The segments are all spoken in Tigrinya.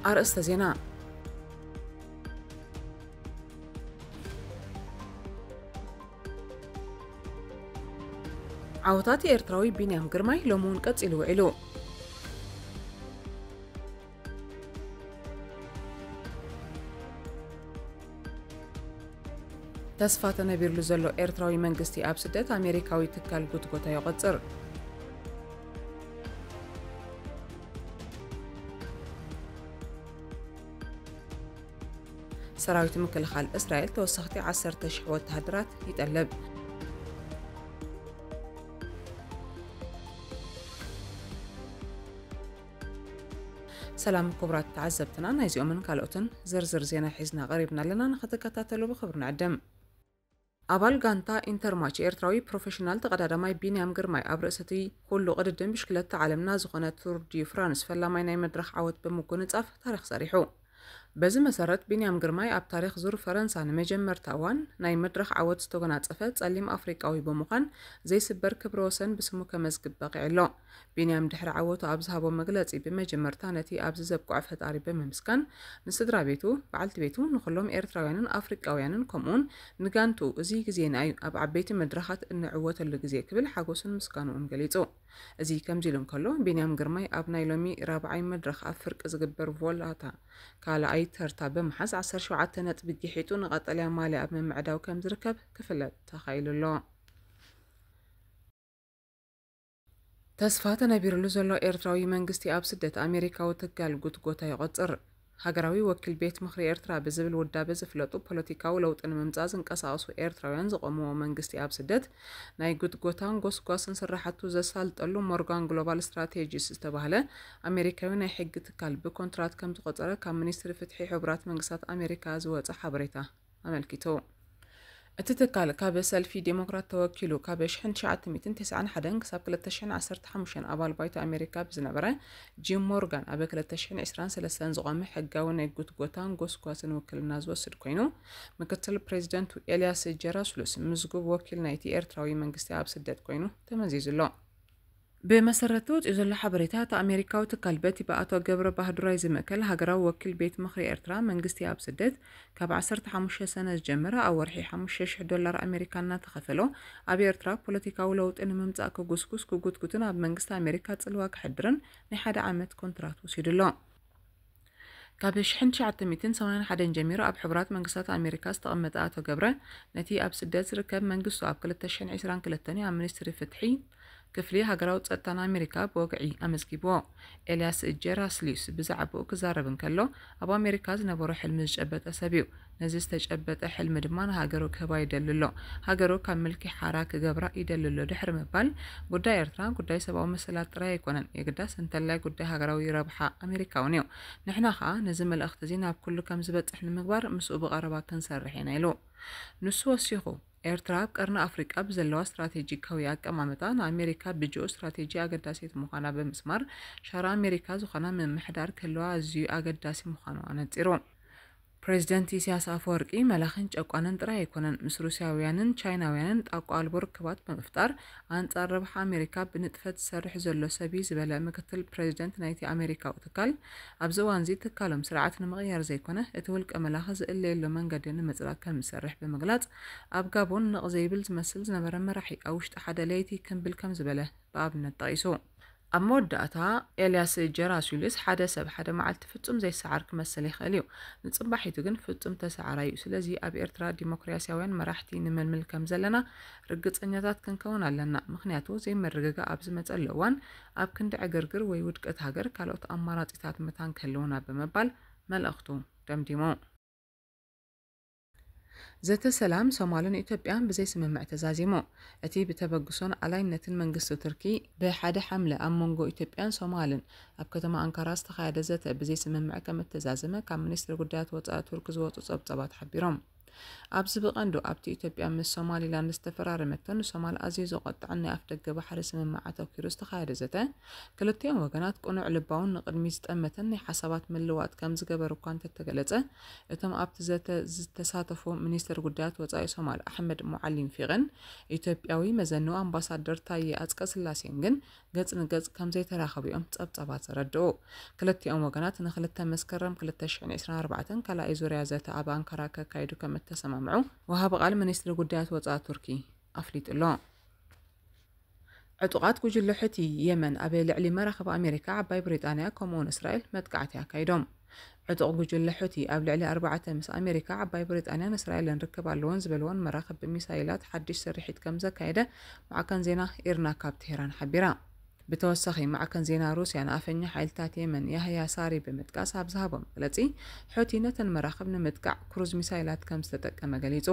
ኣርእስተ ዜና። ዓወታት ኤርትራዊ ቢንያም ግርማይ ሎሚ እውን ቀጺሉ ውዒሉ። ተስፋ ተነቢርሉ ዘሎ ኤርትራዊ መንግስቲ ኣብ ስደት ኣሜሪካዊ ትካል ጉትጎታ ይቖጽር። ሰራዊት ምክልኻል እስራኤል ተወሰኽቲ ዓሰርተ ሽሕ ወተሃደራት ይጠልብ። ሰላም ክቡራት ተዓዘብትና፣ ናይዚኦምን ካልኦትን ዝርዝር ዜና ሒዝና ቀሪብና ኣለና፣ ንኽትከታተሉ ብኽብሪ ንዕድም። ኣባል ጋንታ ኢንተርማች ኤርትራዊ ፕሮፌሽናል ተቐዳዳማይ ቢንያም ግርማይ ኣብ ርእሲ እቲ ኩሉ ቅድድም ብሽክለታ ዓለምና ዝኾነ ቱር ዲ ፍራንስ ፈላማይ ናይ መድረኽ ዓወት ብምጉንጻፍ ታሪኽ ሰሪሑ። በዚ መሰረት ቢንያም ግርማይ ኣብ ታሪኽ ዙር ፈረንሳ ንመጀመርታ እዋን ናይ መድረኽ ዓወት ዝተጎናጸፈ ጸሊም ኣፍሪቃዊ ብምዃን ዘይስበር ክብረ ወሰን ብስሙ ከመዝግብ በቒዑ ኣሎ። ቢንያም ድሕሪ ዓወቱ ኣብ ዝሃቦ መግለጺ ብመጀመርታ ነቲ ኣብዚ ዘብቅዖ ፈጣሪ ብምምስጋን ንስድራ ቤቱ፣ በዓልቲ ቤቱ፣ ንኹሎም ኤርትራውያንን ኣፍሪቃውያንን ከምኡውን ንጋንቱ እዚ ግዜና እዩ ኣብ ዓበይቲ መድረኻት እንዕወተሉ ግዜ ክብል ሓጎሱን ምስጋንኡን ገሊጹ። እዚ ከምዚ ኢሉ እንከሎ ቢንያም ግርማይ ኣብ ናይ ሎሚ ራብዓይ መድረኽ ኣብ ፍርቂ ዝግበር ቮላታ ካልኣይ ተርታ ብምሓዝ ዓሰርተ ሸውዓተ ነጥቢ ጊሒጡ ንቐጠልያ ማልያ ኣብ ምምዕዳው ከም ዝርከብ ክፍለጥ ተኻኢሉ ኣሎ። ተስፋ ተነቢርሉ ዘሎ ኤርትራዊ መንግስቲ ኣብ ስደት ኣሜሪካዊ ትካል ጉትጎታ ይቖጽር። ሃገራዊ ወኪል ቤት ምኽሪ ኤርትራ ብዝብል ውዳበ ዝፍለጡ ፖለቲካዊ ለውጢ ንምምጻእ ዝንቀሳቐሱ ኤርትራውያን ዝቖምዎ መንግስቲ ኣብ ስደት ናይ ጉትጎታን ጎስጓስን ስራሕቱ ዘሳልጠሉ ሞርጋን ግሎባል ስትራቴጂስ ዝተባህለ ኣሜሪካዊ ናይ ሕጊ ትካል ብኮንትራት ከም ዝቖጸረ ካብ ሚኒስትሪ ፍትሒ ሕቡራት መንግስታት ኣሜሪካ ዝወጸ ሓበሬታ ኣመልኪቱ። እቲ ትካል ካብ ሰልፊ ዴሞክራት ተወኪሉ ካብ ሽሕን ትሽዓተ ሚእትን ተስዓን ሓደን ክሳብ ክልተ ሽሕን ዓሰርተ ሓሙሽተን ኣባል ባይቶ ኣሜሪካ ብዝነበረ ጂም ሞርጋን ኣብ ክልተ ሽሕን ዕስራን ሰለስተን ዝቖመ ሕጋዊ ናይ ጉትጎታን ጎስጓስን ውክልና ዝወስድ ኮይኑ፣ ምክትል ፕሬዚደንቱ ኤልያስ ጀራስሉስ ምዝጉብ ወኪል ናይቲ ኤርትራዊ መንግስቲ ኣብ ስደት ኮይኑ ተመዚዙ ኣሎ። ብመሰረት ተወፂኡ ዘሎ ሓበሬታ፣ እቲ ኣሜሪካዊ ትካል በቲ ብኣቶ ገብረ ባህዱራይ ዝምእከል ሃገራዊ ወኪል ቤት ምኽሪ ኤርትራ መንግስቲ ኣብ ስደት ካብ ዓሰርተ ሓሙሽተ ሰነ ዝጀመረ ኣብ ወርሒ ሓሙሽተ ሽሕ ዶላር ኣሜሪካ እናተኸፈሎ ኣብ ኤርትራ ፖለቲካዊ ለውጢ ንምምጻእ ክጉስጉስ ክጉትጉትን ኣብ መንግስቲ ኣሜሪካ ጽልዋ ክሕድርን ናይ ሓደ ዓመት ኮንትራት ወሲዱ ኣሎ። ካብ ሽሕን ትሽዓተ ሚእትን ሰማንያን ሓደን ጀሚሩ ኣብ ሕቡራት መንግስታት ኣሜሪካ ዝተቐመጠ ኣቶ ገብረ፣ ነቲ ኣብ ስደት ዝርከብ መንግስቱ ኣብ ክልተ ሽሕን ዕስራን ክልተን ኣብ ሚኒስትሪ ፍትሒ ክፍሊ ሃገራዊ ጸጥታን ኣሜሪካ ብወግዒ ኣመዝጊብዎ። ኤልያስ ጀራስሊስ ብዛዕባኡ ክዛረብ እንከሎ፣ ኣብ ኣሜሪካ ዝነበሮ ሕልሚ ዝጨበጠ ሰብ እዩ። ነዚ ዝተጨበጠ ሕልሚ ድማ ንሃገሩ ክህባ ይደሊ ኣሎ። ሃገሩ ካብ ምልኪ ሓራ ክገብራ ይደሊ ኣሎ ድሕሪ ምባል፣ ጉዳይ ኤርትራ ጉዳይ ሰብኣዊ መሰላት ጥራይ ኣይኮነን፣ የግዳስ እንተላይ ጉዳይ ሃገራዊ ረብሓ ኣሜሪካ እውን እዩ። ንሕና ከኣ ነዚ መልእኽቲ እዚ ናብ ኩሉ ከም ዝበጽሕ ንምግባር ምስኡ ብቐረባ ክንሰርሕ ኢና ኢሉ። ንሱ ወሲኹ፣ ኤርትራ ኣብ ቀርኒ ኣፍሪቃ ብዘለዋ ስትራቴጂካዊ ኣቀማምጣ ንኣሜሪካ ብጂኦ ስትራቴጂ ኣገዳሲት ምዃና ብምስማር፣ ሻራ ኣሜሪካ ዝኾና ምምሕዳር ክህልዋ ኣዝዩ ኣገዳሲ ምዃኑ ኣነጺሩ። ፕሬዚደንት ኢሳያስ ኣፈወርቂ መላኽን ጨቋንን ጥራይ ኣይኮነን፣ ምስ ሩስያውያንን ቻይናውያንን ጣቋ ኣልቦ ርክባት ብምፍጣር ኣንጻር ረብሓ ኣሜሪካ ብንጥፈት ዝሰርሕ ዘሎ ሰብ እዩ ዝበለ ምክትል ፕሬዚደንት ናይቲ ኣሜሪካዊ ትካል፣ ኣብዚ እዋንዚ ትካሎም ስርዓት ንምቕያር ዘይኮነ እቲ ውልቀ መላኺ ዝእለየሉ መንገዲ ንምጽራግ ከም ዝሰርሕ ብምግላጽ፣ ኣብ ጋቦን ነቕ ዘይብል ዝመስል ዝነበረ መራሒ ኣብ ውሽጢ ሓደ ለይቲ ክምብል ከም ዝበለ ብኣብነት ጠቒሱ። ኣብ መወዳእታ፣ ኤልያስ ጀራስዩልስ ሓደ ሰብ ሓደ መዓልቲ ፍጹም ዘይሰዓር ክመስል ይኽእል እዩ፣ ንጽባሒቱ ግን ፍጹም ተሰዓራይ እዩ። ስለዚ ኣብ ኤርትራ ዲሞክራስያውያን መራሕቲ ንመልምል ከም ዘለና ርግጸኛታት ክንከውን ኣለና፣ ምኽንያቱ ዘይምርግጋእ ኣብ ዝመጸሉ እዋን ኣብ ክንዲ ዕግርግር ወይ ውድቀት ሃገር ካልኦት ኣማራጺታት መታን ክህልውና ብምባል መልእኽቱ ደምዲሙ። ዘተ ሰላም ሶማልን ኢትዮጵያን ብዘይስምምዕ ተዛዚሙ። እቲ ብተበግሶን ኣላይነትን መንግስቲ ቱርኪ ብሓደ ሓምለ ኣብ መንጎ ኢትዮጵያን ሶማልን ኣብ ከተማ ኣንካራ ዝተኻየደ ዘተ ብዘይስምምዕ ከም እተዛዘመ ካብ ሚኒስትሪ ጉዳያት ወጻኢ ቱርክ ዝወጹ ጸብጻባት ሓቢሮም። ኣብዚ ብቐንዱ ኣብቲ ኢትዮጵያ ምስ ሶማሊላንድ ዝተፈራረመቶ ንሶማል ኣዝዩ ዘቖጥዐን ናይ ኣፍደገ ባሕሪ ስምምዕ ኣተኲሩ ዝተኻየደ ዘተ፣ ክልቲኦም ወገናት ቅኑዕ ልባውን ንቕድሚ ዝጠመተን ናይ ሓሳባት ምልውዋጥ ከም ዝገበሩ እኳ እንተተገለጸ፣ እቶም ኣብቲ ዘተ ዝተሳተፉ ሚኒስትር ጉዳያት ወጻኢ ሶማል ኣሕመድ ሙዓሊም ፊቕን ኢትዮጵያዊ መዘንኡ ኣምባሳደር ታዬ ኣጽቀስላሴን ግን ገጽ ንገጽ ከም ዘይተራኸቡ እዮም ጸብጻባት ዘረድኡ። ክልቲኦም ወገናት ንክልተ መስከረም ክልተ ሽሕን ዕስራን ኣርባዕተን ካልኣይ ዙርያ ዘተ ኣብ ኣንካራ ከካይዱ ከም እተሰማምዑ ወሃቢ ቃል ሚኒስትሪ ጉዳያት ወጻኢ ቱርኪ ኣፍሊጡ ኣሎ። ዕጡቓት ጉጅለ ሑቲ የመን ኣብ ልዕሊ መራኽብ ኣሜሪካ፣ ዓባይ ብሪጣንያ ከምኡውን እስራኤል መጥቃዕቲ ኣካይዶም። ዕጡቕ ጉጅለ ሑቲ ኣብ ልዕሊ ኣርባዕተ ምስ ኣሜሪካ፣ ዓባይ ብሪጣንያን እስራኤልን ርክብ ኣለወን ዝበልወን መራኽብ ብሚሳይላት ሓድሽ ስርሒት ከም ዘካየደ ማዕከን ዜና ኢርና ካብ ቴህራን ሓቢራ። ብተወሳኺ ማዕከን ዜና ሩስያ ንኣፈኛ ሓይልታት የመን ያህያ ሳሪ ብምጥቃስ ኣብ ዝሃቦ መግለጺ፣ ሑቲ ነተን መራኽብ ንምጥቃዕ ክሩዝ ሚሳይላት ከም ዝተጠቀመ ገሊጹ።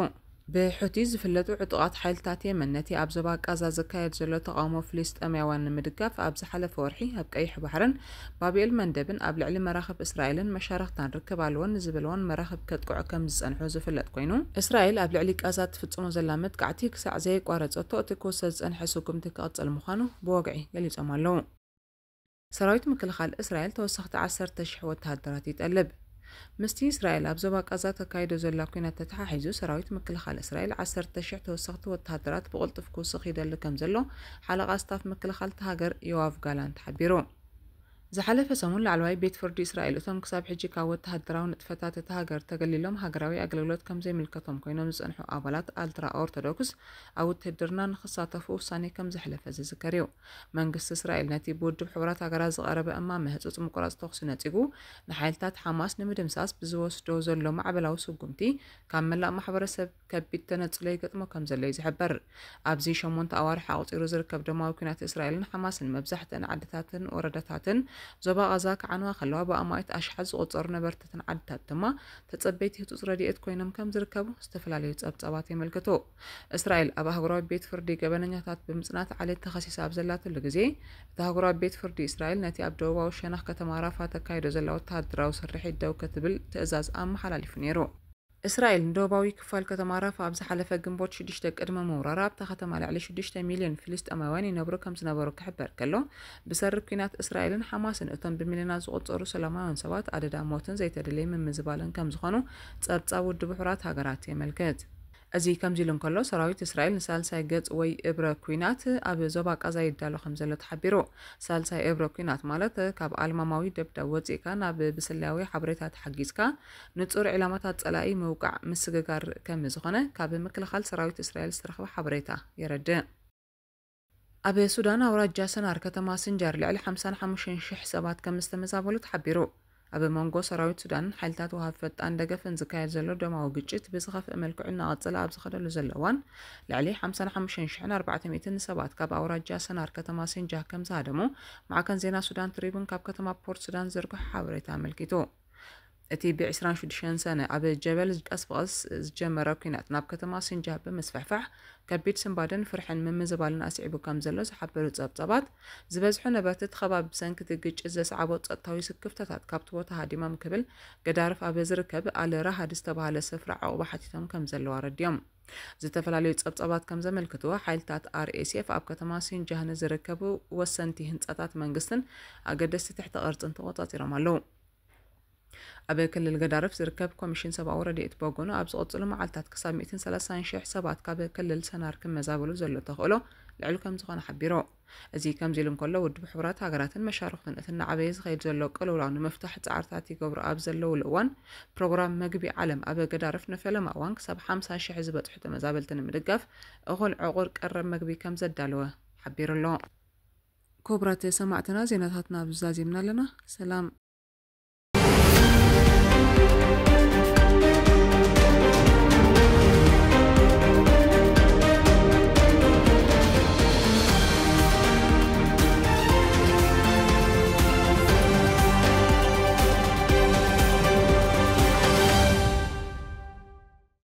ብሑቲ ዝፍለጡ ዕጡቓት ሓይልታት የመን ነቲ ኣብ ዞባ ቃዛ ዝካየድ ዘሎ ተቓውሞ ፍልስጤማውያን ንምድጋፍ ኣብ ዝሓለፈ ወርሒ ኣብ ቀይሕ ባሕርን ባብኤል መንደብን ኣብ ልዕሊ መራኽብ እስራኤልን መሻርኽታን ርክብ ኣለወን ንዝበልወን መራኽብ ከጥቅዑ ከም ዝጸንሑ ዝፍለጥ ኮይኑ፣ እስራኤል ኣብ ልዕሊ ቃዛ ትፍጽሞ ዘላ መጥቃዕቲ ክሳዕ ዘየቋረጸቶ እቲ ክውሰድ ዝጸንሐ ስጉምቲ ክቕጽል ምዃኑ ብወግዒ ገሊጾም ኣለዉ። ሰራዊት ምክልኻል እስራኤል ተወሰኽቲ ዓሰርተ ሽሕ ወተሃደራት ይጠልብ። ምስቲ እስራኤል ኣብ ዞባ ቃዛ ተካይዶ ዘላ ኲናት ተተሓሒዙ፣ ሰራዊት ምክልኻል እስራኤል ዓሰርተ ሽሕ ተወሰኽቲ ወተሃደራት ብቕልጡፍ ክውስኽ ይደሊ ከም ዘሎ ሓለቓ ስታፍ ምክልኻል እታ ሃገር ዮኣቭ ጋላንት ሓቢሩ። ዝሓለፈ ሰሙን ላዕለዋይ ቤት ፍርዲ እስራኤል እቶም ክሳብ ሕጂ ካብ ወተሃደራዊ ንጥፈታት እታ ሃገር ተገሊሎም ሃገራዊ ኣገልግሎት ከም ዘይምልከቶም ኮይኖም ዝጸንሑ ኣባላት ኣልትራ ኦርቶዶክስ ኣብ ውትህድርና ንኽሳተፉ ውሳኔ ከም ዘሕለፈ ዝዝከር እዩ። መንግስቲ እስራኤል ነቲ ብውድብ ሕቡራት ሃገራት ዝቐረበ እማመ ህጹጽ ምቁራጽ ተኹሲ ነጺጉ፣ ንሓይልታት ሓማስ ንምድምሳስ ብዝወስዶ ዘሎ ማዕበላዊ ስጉምቲ ካብ መላእ ማሕበረሰብ ከቢድ ተነጽሎ ይገጥሞ ከም ዘሎ እዩ ዝሕበር። ኣብዚ ሸሞንተ ኣዋርሕ ኣቑጺሩ ዝርከብ ደማዊ ኲናት እስራኤልን ሓማስን መብዛሕትአን ዓድታትን ወረዳታትን ዞባ ቓዛ ክዓንዋ ከለዋ፣ ብኣማኢት ኣሽሓት ዝቑጸሩ ነበርትተን ዓድታት ድማ ተጸበይቲ ህጹጽ ረድኤት ኮይኖም ከም ዝርከቡ ዝተፈላለዩ ጸብጻባት የመልክቱ። እስራኤል ኣብ ኣህጉራዊ ቤት ፍርዲ ገበነኛታት ብምጽናት ዓሌት ተኸሲሳ ኣብ ዘላትሉ ግዜ፣ እቲ ኣህጉራዊ ቤት ፍርዲ እስራኤል ነቲ ኣብ ደቡባዊ ሸነኽ ከተማ ራፋ ተካይዶ ዘላ ወተሃደራዊ ስርሒት ደው ክትብል ትእዛዝ ኣመሓላሊፉ ነይሩ። እስራኤል ንደቡባዊ ክፋል ከተማ ራፋ ኣብ ዝሓለፈ ግንቦት ሽዱሽተ ቅድሚ ምውራራ ኣብታ ከተማ ልዕሊ ሽዱሽተ ሚልዮን ፍልስጤማውያን ይነብሩ ከም ዝነበሩ ክሕበር ከሎ፣ ብሰሪ ኲናት እስራኤልን ሓማስን እቶም ብሚልዮናት ዝቑጸሩ ሰላማውያን ሰባት ኣደዳ ሞትን ዘይተደለየ ምምዝባልን ከም ዝኾኑ ጸብጻብ ውድብ ሕቡራት ሃገራት የመልክት። እዚ ከምዚ ኢሉ እንከሎ፣ ሰራዊት እስራኤል ንሳልሳይ ገጽ ወይ እብረ ኲናት ኣብ ዞባ ቃዛ ይዳሎ ከም ዘሎ ተሓቢሩ። ሳልሳይ እብረ ኲናት ማለት ካብ ኣልማማዊ ደብዳብ ወጺእካ ናብ ብስለያዊ ሓበሬታ ተሓጊዝካ ንጹር ዒላማታት ጸላኢ ምውቃዕ ምስግጋር ከም ዝኾነ ካብ ምክልኻል ሰራዊት እስራኤል ዝተረኽበ ሓበሬታ የረድእ። ኣብ ሱዳን ኣውራጃ ሰናር ከተማ ስንጃር ልዕሊ ሓምሳን ሓሙሽተን ሽሕ ሰባት ከም ዝተመዛበሉ ተሓቢሩ። ኣብ መንጎ ሰራዊት ሱዳንን ሓይልታት ወሃብ ፈጣን ደገፍን ዝካየድ ዘሎ ደማዊ ግጭት ብዝኸፍእ መልክዑ እናቐጸለ ኣብ ዝኸደሉ ዘሎ እዋን፣ ልዕሊ ሓምሳን ሓሙሽተን ሽሕን ኣርባዕተ ሚእትን ሰባት ካብ ኣውራጃ ሰናር ከተማ ሲንጃህ ከም ዝሃደሙ ማዕከን ዜና ሱዳን ትሪቡን ካብ ከተማ ፖርት ሱዳን ዝዝርግሖ ሓበሬታ ኣመልኪቱ። እቲ ብ ዕስራን ሽዱሽተን ሰነ ኣብ ጀበል ቀስ ብቐስ ዝጀመረ ኲናት ናብ ከተማ ሲንጃህ ብምስፍሕፋሕ፣ ከቢድ ስንባደን ፍርሕን ምምዝባልን ኣስዒቡ ከም ዘሎ ዝሓበሩ ጸብጻባት፣ ዝበዝሑ ነበርቲ እቲ ከባቢ ብሰንኪ እቲ ግጭት ዘስዓቦ ጸጥታዊ ስክፍታታት ካብቲ ቦታ ሃዲሞም ክብል ገዳርፍ ኣብ ዝርከብ ኣል ራሃድ ዝተባህለ ስፍራ ዕቑባ ሓቲቶም ከም ዘለዉ ኣረዲኦም። ዝተፈላለዩ ጸብጻባት ከም ዘመልክትዎ፣ ሓይልታት ኣር ኤስ ኤፍ ኣብ ከተማ ሲንጃህ ንዝርከቡ ወሰንቲ ህንጻታት መንግስትን ኣገደስቲ ትሕተ ቅርጽን ተቖጻጺሮም ኣለዉ። ኣብ ክልል ገዳርፍ ዝርከብ ኮሚሽን ሰብኣዊ ረድኤት ብወገኑ፣ ኣብ ዝቕጽሉ መዓልታት ክሳብ ሚእትን ሰላሳን ሽሕ ሰባት ካብ ክልል ሰናር ክመዛበሉ ዘሎ ተኽእሎ ልዑል ከም ዝኾነ ሓቢሩ። እዚ ከምዚ ኢሉ እንከሎ፣ ውድብ ሕቡራት ሃገራትን መሻርኽቱን እቲ እናዓበየ ዝኸይድ ዘሎ ቅልውላው ንምፍታሕ ጻዕርታት ይገብሩ ኣብ ዘለውሉ እዋን፣ ፕሮግራም መግቢ ዓለም ኣብ ገዳርፍ ንፈለማ እዋን ክሳብ ሓምሳ ሽሕ ዝበጽሑ ተመዛበልቲ ንምድጋፍ እኹል ዕቑር ቀረብ መግቢ ከም ዘዳለወ ሓቢሩ ኣሎ። ክቡራት ሰማዕትና፣ ዜናታትና ኣብዚ ዛዚምና ኣለና። ሰላም።